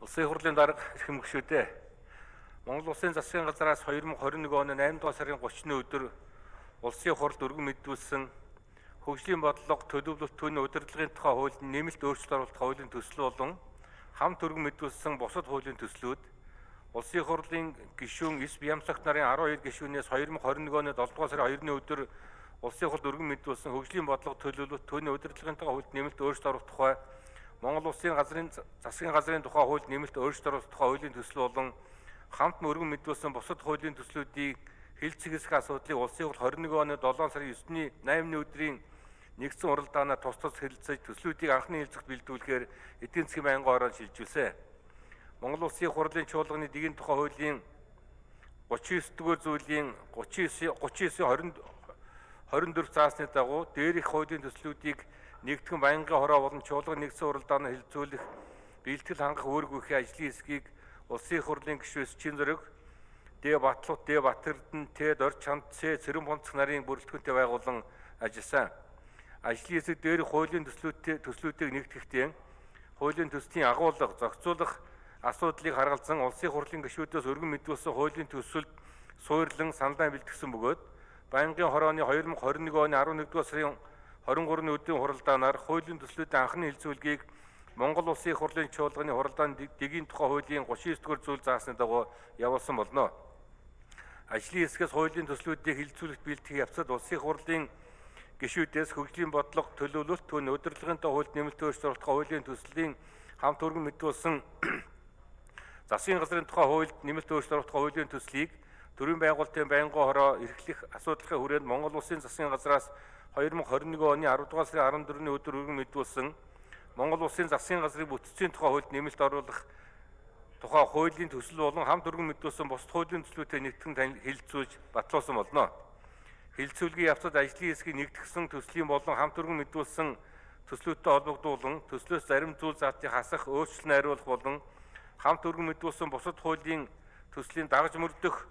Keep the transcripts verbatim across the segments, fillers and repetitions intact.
Улсын хурлын дарга эрхэм гишүүдээ Монгол Улсын засгийн газраас two thousand twenty-one оны eight дугаар сарын thirty-ны өдөр улсын хурлд өргөн мэдүүлсэн хөгжлийн бодлого төлөвлөлт түүний удирдлагын тухай хуулинд нэмэлт өөрчлөлт оруулах хуулийн төсөл болон хамт өргөн мэдүүлсэн бусад хуулийн төслүүд улсын хурлын гишүүн эс Бямсагт нарын twelve гишүүнээс two thousand twenty-one оны seven дугаар сарын second-ны өдөр улсын хурлд өргөн мэдүүлсэн хөгжлийн бодлого төлөвлөлт түүний удирдлагын тухай хуулинд нэмэлт өөрчлөлт оруулах тухай Монгол Улсын газрын засгийн газрын тухай хуулинд нэмэлт өөрчлөлт оруулах тухай хуулийн төсөл болон хамт өргөн мэдүүлсэн бусад хуулийн төслүүдийг хэлцэг хэсэг асуудлыг улсын хурл twenty-one оны seven сарын nine-ны eight-ны өдрийн нэгдсэн уралдаанаар тус тус хэлэлцэж төслүүдийг анхны хэлцэгт бэлдүүлэхээр эдийн засгийн байнгын орон шилжүүлсэн. Монгол Улсын хурлын чуулганы дэгийн тухай хуулийн thirty-nine дугаар зүйлийн thirty-nine twenty-four заасны дагуу дээрх хуулийн төслүүдийг нэгтгэн байнгын хороо болон чуулган нэгдсэн уралдаанаар хэлэлцүүлэх бэлтгэл хангах үүргүйхээ ажлын хэсгийг улсын хурлын гишүүс Чин Зориг, Дэ Батлут, Дэ Батэрдэн, Тэ Дорж Чанд, Цэ Цэрэн Бонцох нарын бүрэлдэхүүнтэй байгуулан ажилласан. Ажлын хэсэг дээрх хуулийн төслүүдтэй төслүүдийг нэгтгэхдээ хуулийн төслийн агуулга, зохицуулах асуудлыг харгалзан улсын хурлын гишүүдээс өргөн мэдүүлсэн хуулийн төсөлд суурлан саналаа бэлтгэсэн бөгөөд байнгын хорооны two thousand twenty-one оны eleven дугаар сарын twenty-three-ны өдрийн хуралдаанаар хуулийн төслүүдийн анхны хэлэлцүүлгийг Монгол Улсын хурлын чуулганы хуралдааны дэгийн тухай хуулийн thirty-nine дугаар зүйл заасны дагуу явуулсан болно. Ажлын хэсгээс хуулийн төслүүдийг хэлэлцүүлэлт бэлтгэх явцад улсын хурлын гишүүдээс хөгжлийн бодлого төлөвлөлт түүний удирдлагын хуулинд нэмэлт өөрчлөлт оруулах хуулийн төслийн хамт өргөн мэдүүлсэн засгийн газрын тухай хуулинд нэмэлт өөрчлөлт оруулах хуулийн төслийг төрийн байгуулалтын байнгын хороо эрхлэх асуудлын хүрээнд Монгол Улсын засгийн газраас two thousand twenty-one оны ten дугаар сарын fourteen-ны өдөр өргөн мэдүүлсэн Монгол Улсын засгийн газрын бүтцийн тухай хуулинд нэмэлт оруулах тухай хуулийн төсөл болон хамт өргөн мэдүүлсэн бусад хуулийн төслүүдтэй нэгтгэн хэлэлцүүлж батлуулсан болно. Хэлэлцүүлгийн явцад ажлын хэсгийг нэгтгэсэн төслийн болон хамт өргөн мэдүүлсэн төслүүдтэй холбогдуулан төслөөс зарим зүйл заалтыг хасах, өөрчлөлт найруулах болон хамт өргөн мэдүүлсэн бусад хуулийн төслийн дагаж мөрдөх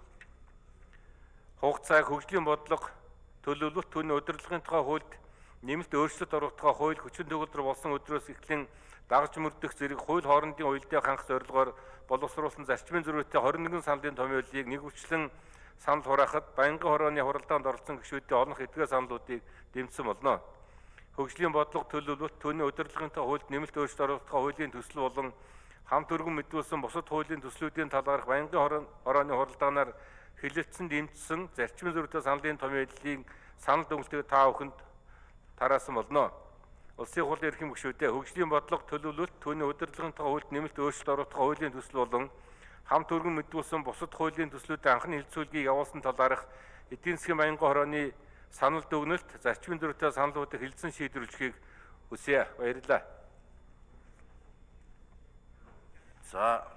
хугацааг хөгжлийн бодлого төлөвлөлт түүний удирдлагын тухай хуулинд нэмэлт өөрчлөлт оруулах тухай хууль хүчин төгөлдөр болсон өдрөөс эхлэн дагаж мөрдөх зэрэг хууль хоорондын уялдааг хангах зорилгоор боловсруулсан зарчмын зөрүүтэй twenty-one саналын томьёолыг нэгүчлэн санал хураахад байнгын хорооны хуралдаанд оролцсон гишүүдийн олонх эдгээр саналуудыг дэмжсэн болно. Хөгжлийн бодлого төлөвлөлт түүний удирдлагын тухай хуулинд нэмэлт өөрчлөлт оруулах тухай хуулийн төсөл болон хамт өргөн мэдүүлсэн бусад хуулийн төслүүдийн талаарх байнгын хорооны хуралдаанаар хэлэлцсэн дэмжсэн зарчмын зөрүүтэй саналын томьёолыг санал дүгнэлтийг та бүхэнд тараасан болно. Улсын хурлын эрхэм гишүүдээ хөгжлийн бодлого төлөвлөлт түүний удирдлагын тухай хуулинд нэмэлт өөрчлөлт оруулах хуулийн төсөл болон хамт өргөн мэдүүлсэн бусад хуулийн төслүүдийн анхны хэлэлцүүлгийг явуулсан талаарх эдийн засгийн байнгын хорооны санал дүгнэлт зарчмын зөрүүтэй саналуудыг хэлэлцэн шийдвэрлэхийг хүсье. Баярлалаа. За